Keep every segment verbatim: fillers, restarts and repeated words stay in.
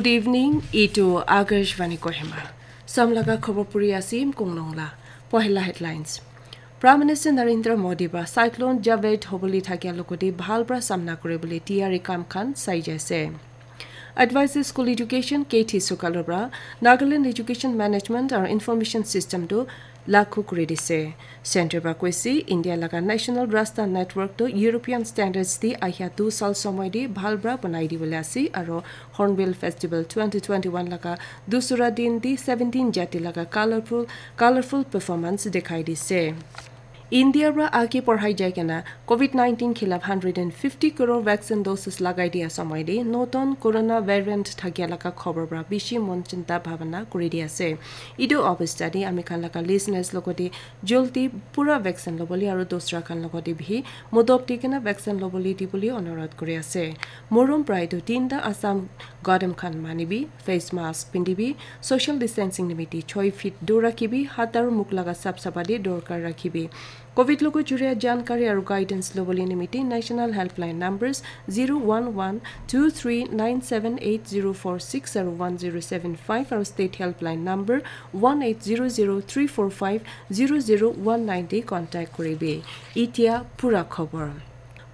Good evening, itu Akashvani Kohima. Samlaga khobor puri asim kongnong la. Pohela headlines. Prime Minister Narendra Modi ba Cyclone Javed hoboli thakia logodi bhal pra samna kore bole tiyari kam khan sai jaise. Advisory School Education K T Sukalu pra Nagaland Education Management aru Information System tu lagu kuri dise. Center pra koise India laga National Rasta Network tu European Standards di ahia du sal somoi di bhal pra banai di bole ase aru Hornbill Festival twenty twenty-one laga dusra din di seventeen jati laga colorful, colorful performance dikhai dise. India pra age porhai jai kena COVID nineteen khilaf hundred and fifty crore vaccine doses lagai dia samai de noton corona variant thakia laga khobor pra bishi mon chinta bhabana kuri di ase. Idu obostha de ami khan laga listeners logode joldi pura vaccine lobole aru dosra khan logode bihi modop di kena vaccine lobole di bole onurodh kuri ase. Morom prai do tinta Assam gadam khan manibi, face mask pindibi, social distancing nimiti choi feet dur rakhibi, hat aru mukh laga sap sapa de dorkar rakhibi. COVID logo juria jankari aru guidance lobole nimiti National Helpline numbers zero one one two three nine seven eight zero four six aru one zero seven five aru State Helpline number one eight zero zero three four five zero zero one nine de contact koribi. Itia pura khobor.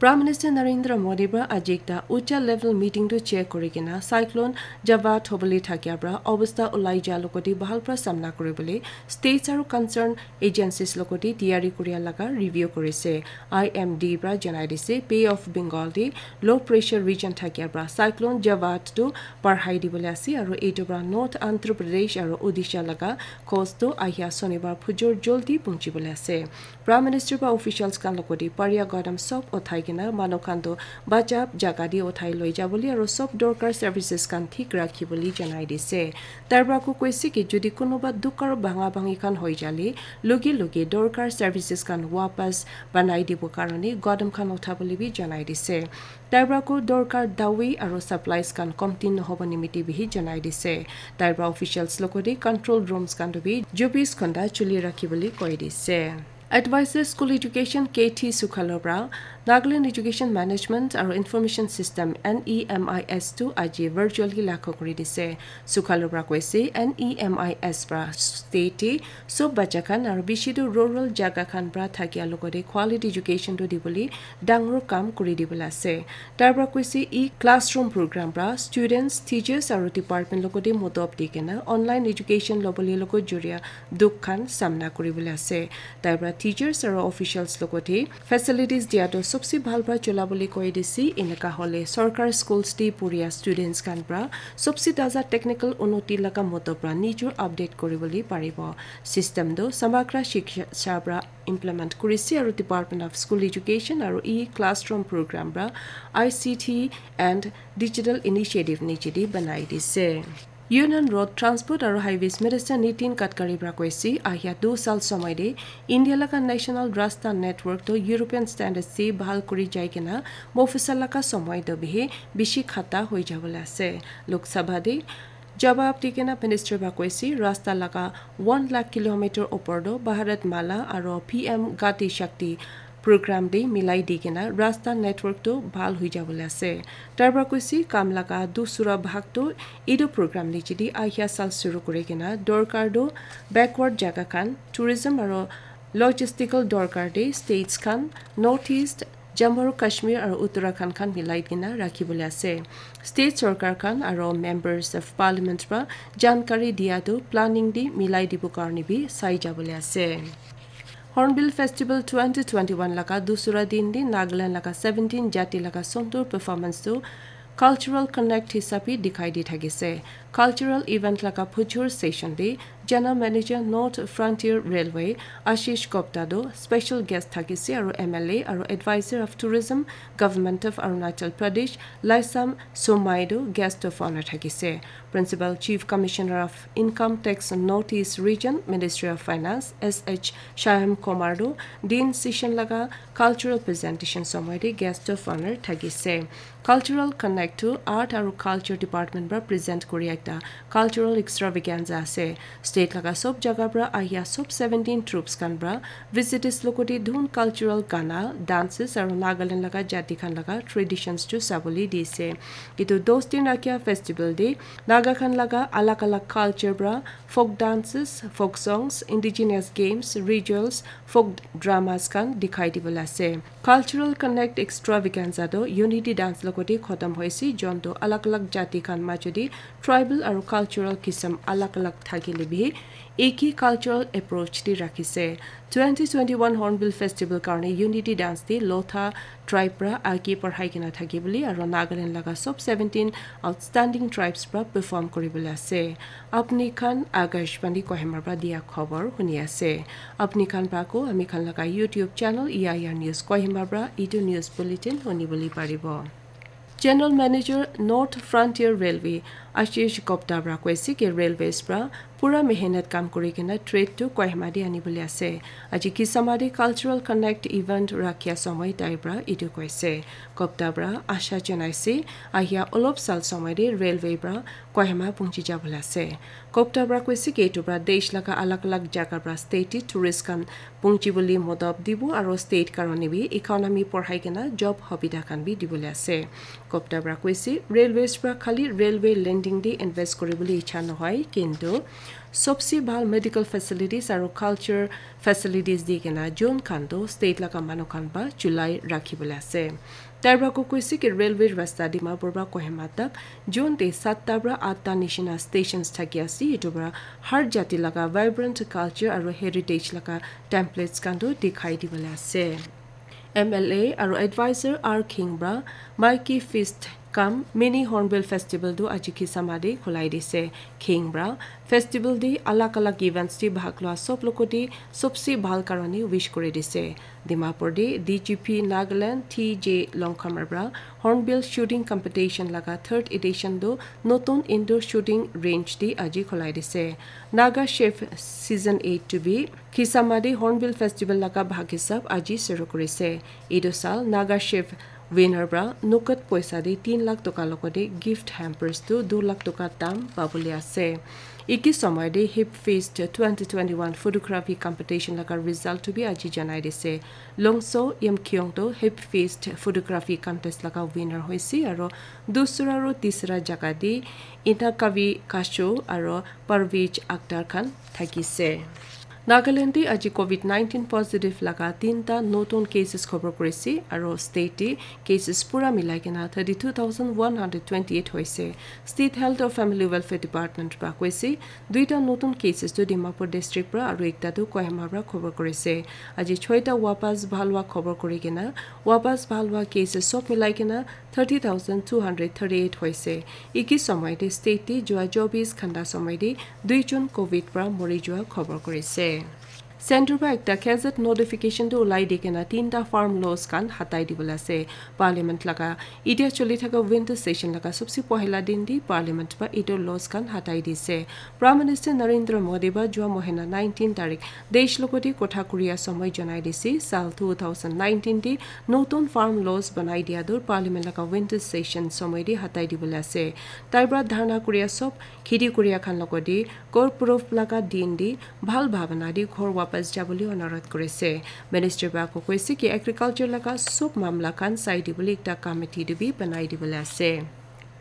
Prime Minister Narendra Modi pra aji ekta ucha level meeting tu chair kuri kena Cyclone Javed hobole thakia pra obostha ulai ja logodi bhal pra samna kuri bole states aru concern agencies logodi tiyari kuria laga review kurise. I M D pra janai dise Bay of Bengal de low pressure region thakia pra Cyclone Javed tu parhai di bole ase aru etu pra North Andhra Pradesh aru Odisha laga coast tu ahia Sonibar phujor joldi punchi bole ase. Prime Minister ba officials khan logodi paria gadam sob uthai kena manu khan tu bachap jaga di uthai loi ja bole aru sob dorkar services khan thik rakhi bole janai dise. Tar pra ko koise ki jodi kunuba dukar bhanga bhangi khan hoi jale loge loge dorkar services khan wapas banai dibo karone gadam khan utha bole bi janai dise. Tar pra ko dorkar dawi aru supplies khan komti nohobo nimiti bihi janai dise. Tar pra officials logodi control rooms khan tu bi chobis ghonta chuli rakhi bole koi dise. Advisor School Education K T Sukhalo pra Nagaland Education Management aru Information System N E M I S tu aji virtually lagu kuri dise. Sukhalo pra koise N E M I S pra state sob bacha khan aru bishi tu rural jaga khan pra thakia logode quality education tu dibole dangor kam kuri dibole ase. Tar pra koise e classroom program pra students, teachers aru department logode modop di kena online education lobole logo juria dukh khan samna kuri bole ase. Tai pra teachers aru officials logode facilities dia tu sobse bhal pra chola bole koi dise. Eneka hole sorkar schools te puria students khan pra sobse taza technical unoti laga modop pra nijor update kuri bole paribo. System tu Samagra Shiksha pra implement kurise aru Department of School Education aru e classroom program pra I C T and Digital Initiative niche de banai dise. Union Road Transport aru Highways Minister Nitin Gadkari pra koise ahia du sal somoi de India laga National Rasta Network tu European Standard se bhal kuri jai kena mofisa laga somoi tu bihi bishi khata hoi jabole ase. Lok Sabha de jawab di kena minister pra koise rasta laga one lakh kilometer opor tu Bharat Mala aru P M Gati Shakti program de milai di kena rasta network tu bhal hoi jabole ase. Tar pra koise kam laga dusra bhag tu etu program niche de ahia sal shuru kuri kena dorkar tu backward jaga khan tourism aru logistical dorkar de states khan North East, Jammu aru Kashmir aru Uttarakhand khan milai kena rakhi bole ase. State sorkar khan aru members of parliament pra jankari dia tu planning de milai dibo karone bi sai jabole ase. Hornbill Festival twenty twenty-one laga dusra din de Nagaland laga seventeen jati laga sundur performance tu cultural connect hisabe dikhai di thakise. Cultural event laga phujur session de General Manager North Frontier Railway Ashish Gupta tu special guest thakise aru M L A aru Advisor of Tourism Government of Arunachal Pradesh Laisam Somai tu guest of honor thakise. Principal Chief Commissioner of Income Tax North East Region, Ministry of Finance, S H Shyam Kumar tu din session laga cultural presentation somoi de guest of honor thakise. Cultural Connect tu Art aru Culture Department pra present kuri ekta ekta cultural extravaganza ase. State laga sob jaga pra ahia sob seventeen troupes khan pra visitors logoti dhun, cultural gana, dances aro Nagaland laga jati khan laga traditions tu sabole dise. Etu dos din rakhia festival te Naga khan laga alag alag culture pra folk dances, folk songs, indigenous games, rituals, folk dramas khan dikhai dibole ase. Cultural Connect Extravaganza tu Unity Dance logoti khotom hoise, jon tu alag alag jati khan majodi tribal aro cultural kisam alag alag thakile bi eki cultural approach te rakhise. Twenty twenty-one Hornbill Festival karne Unity Dance te Lotha tribe pra age parhai kena thaki bole aro Nagaland laga sob seventeen outstanding tribes pra perform kuri bole ase. Apni khan Akashvani Kohima pra dia khobor huni ase. Apni khan pra ko ami khan laga YouTube channel E I R News Kohima pra etu news bulletin huni bole paribo. General Manager North Frontier Railway Ashish Gupta pra koise ki railways pra pura mehnat kam kuri kena trade tu Kohima te ani bole ase. Aji Kisama te Cultural Connect event rakhia somoi tai pra etu koise. Gupta pra asha janaise ahia olop sal somoi te railway pra Kohima pungchi jabole ase. Gupta pra koise ki etu pra desh laga alag alag jaga pra state te tourist khan pungchi bole modop dibo aro state karone bi economy porhai kena job hobida khan bi dibole ase. Gupta pra koise railways pra khali railway landing te invest kuri bole icha nohoi, kintu sobse bhal medical facilities aro culture facilities di kena jon khan tu state laga manu khan pa chulai rakhi bole ase. Tai pra ko koise ki railway rasta Dimapur pra Kohima tak jon te satta pra atta nishina stations thaki ase. Etu pra har jati laga vibrant culture aro heritage laga templates khan tu dikhai dibole ase. M L A aro advisor R Khing pra Mikey Feast kam Mini Hornbill Festival tu aji Kisama te khulai dise. Khing pra festival te alag alag events te bhag lua sob logoti sobse bhal karone wish kuri dise. Dimapur te D G P Nagaland T J Longkhamar pra Hornbill Shooting Competition laga third edition tu notun indoor shooting range te aji khulai dise. Naga Chef Season eight tu bi Kisama te Hornbill Festival laga bhag hisab aji shuru kurise. Etu sal Naga Chef winner pra nukut poisa te tin lakh toka logoti gift hampers tu dui lakh toka dam pabole ase. Eki somoi te Hip Fest twenty twenty-one photography competition laga result tu bi aji janai dise. Longso Yimkhiung tu Hip Fest photography contest laga winner hoise aro dusra aro tisra jaga te Inakavi Kasho aro Parvez Akhtar khan thakise. Nagaland te aji covid nineteen positive laga tinta notun cases khobor kurise aro state te cases pura milai kena thirty two thousand one hundred twenty eight hoise. State Health aru Family Welfare Department pra koise duita notun cases tu Dimapur district pra aru ekta tu Kohima pra khobor kurise. Aji choita wapas bhal hua khobor kuri kena wapas bhal hua cases sob milai kena thirty thousand two hundred thirty eight hoise. Eki somoi te state te jua chobis ghanta somoi te dui jon covid pra mori jua khobor kurise. Centre pra ekta gazette notification tu ulai di kena tinta farm laws khan hatai dibole ase. Parliament laga itia choli thaka winter session laga sobse pohila din te parliament pra etu laws khan hatai dise. Prime Minister Narendra Modi pra jua mohina nineteen tarik desh logoti kotha kuria somoi janai dise. Sal two thousand nineteen te notun farm laws banai dia tu parliament laga winter session somoi te hatai dibole ase. Tai pra dharna kuria sob kheti kuria khan logoti kor proof laga din te bhal bhabana te ghor wapas jabole onurodh kurise. Minister pra ko koise ki agriculture laga sob mamla khan sai dibole ekta committee tu bi banai dibole ase.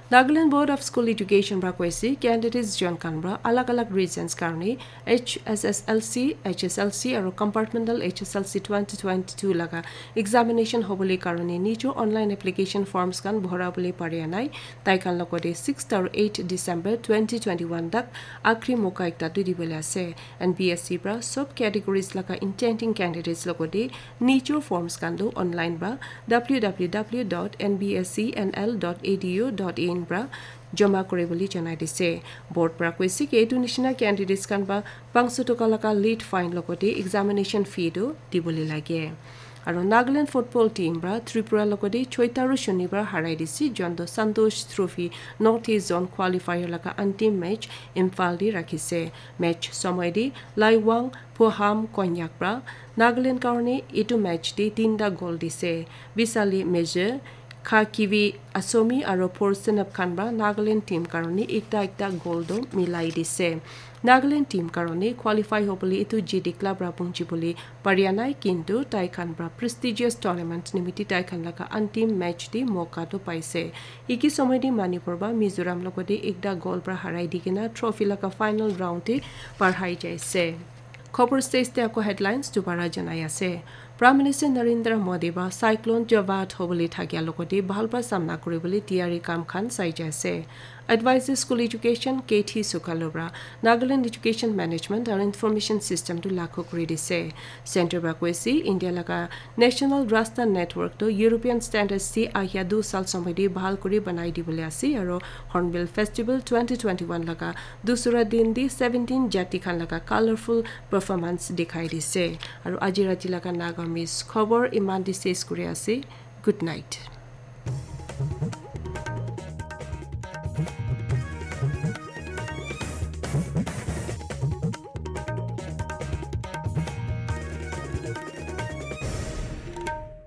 Nagaland Board of School Education pra koise candidates jon khan pra alag alag reasons karone H S S L C, H S L C aru compartmental H S L C twenty twenty-two laga examination hobole karone nijo online application forms khan bhora bole pare nai. Tai khan logote sixth aru eighth December twenty twenty-one tak akhri moka ekta tu dibole ase. N B S C pra sob categories laga intending candidates logote nijo forms khan tu online pra W W W dot N B S C N L dot A D U dot in pra joma kuri bole janai dise. Board pra koise ki etu nishina candidates khan pra panch sho toka laga late fine logote examination fee tu dibole lage. Aru Nagaland football team pra Tripura logote choita aru shonibar harai dise, jonto Santosh Trophy North East Zone qualifier laga antim match Imphal te rakhise. Match somoi te Laiwang Phuham Konyak pra Nagaland karone etu match te tinta goal dise. Bisali Major, Kha Kiwi Asomi aro Por Senap khan pra Nagaland team karone ekta ekta goal toh milai dise. Nagaland team karone qualify hobole etu jiti club pra punchi bole paria nai, kintu tai khan pra prestigious tournament nimiti tai khan laga antim match te moka toh paise. Eki somoi te Manipur pra Mizoram logote ekta goal pra harai di kena trophy laga final round te parhai jaise. Khobor stage te ako headlines dubara janai ase. Prime Minister Narendra Modi ba Cyclone Jawad hobole thakia logote bhal pra samna kuribole tiyari kam khan sai jaise. Advisor School Education K T Sukalobra Nagaland Education Management and Information System to lakho kuri dise. Center pra koise India laga National Rasta Network to European Standards si ahia du sal somoi te bhal kuri banai dibole ase aro Hornbill Festival twenty twenty-one laga dusra din di seventeen jati khan laga colorful performance dikhai dise. Aro aji rati laga Naga Miss khobor iman di ses kuri ase. Good night.